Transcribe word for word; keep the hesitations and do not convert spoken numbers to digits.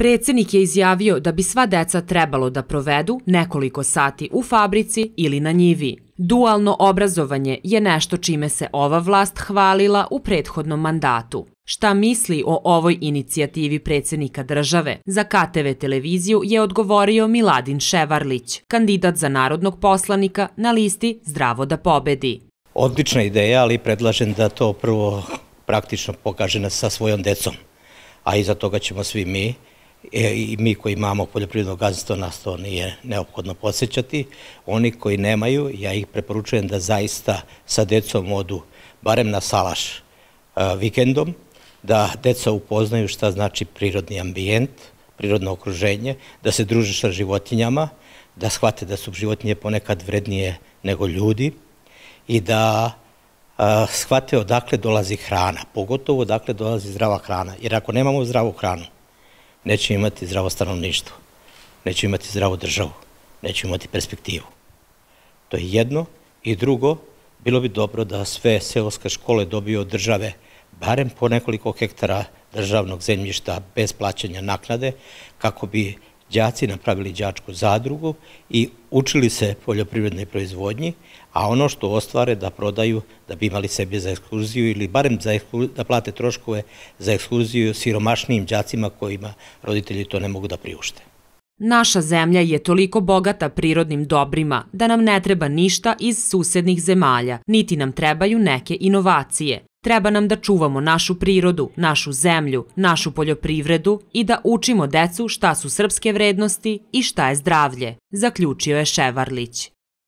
Predsednik je izjavio da bi sva deca trebalo da provedu nekoliko sati u fabrici ili na njivi. Dualno obrazovanje je nešto čime se ova vlast hvalila u prethodnom mandatu. Šta misli o ovoj inicijativi predsednika države? Za K T V televiziju je odgovorio Miladin Ševarlić, kandidat za narodnog poslanika na listi Zdravo da pobedi. Odlična ideja, ali predlažem da to prvo praktično pokaže sa svojom decom, a iza toga ćemo svi mi, i mi koji imamo poljoprivredno gazdinstvo, nas to nije neophodno podsjećati. Oni koji nemaju, ja ih preporučujem da zaista sa decom odu barem na salaš vikendom, da deca upoznaju šta znači prirodni ambijent, prirodno okruženje, da se druže sa životinjama, da shvate da su životinje ponekad vrednije nego ljudi i da shvate odakle dolazi hrana, pogotovo odakle dolazi zdrava hrana. Jer ako nemamo zdravu hranu, nećemo imati zdravo stanovništvo, nećemo imati zdravu državu, nećemo imati perspektivu. To je jedno. I drugo, bilo bi dobro da sve seoske škole dobiju od države barem po nekoliko hektara državnog zemljišta bez plaćanja naknade, kako bi đaci napravili đačku zadrugu i učili se poljoprivrednoj proizvodnji, a ono što ostvare da prodaju da bi imali sebi za ekskurziju ili barem da plate troškove za ekskurziju siromašnijim đacima kojima roditelji to ne mogu da priušte. Naša zemlja je toliko bogata prirodnim dobrima da nam ne treba ništa iz susednih zemalja, niti nam trebaju neke inovacije. Treba nam da čuvamo našu prirodu, našu zemlju, našu poljoprivredu i da učimo decu šta su srpske vrednosti i šta je zdravlje, zaključio je Ševarlić.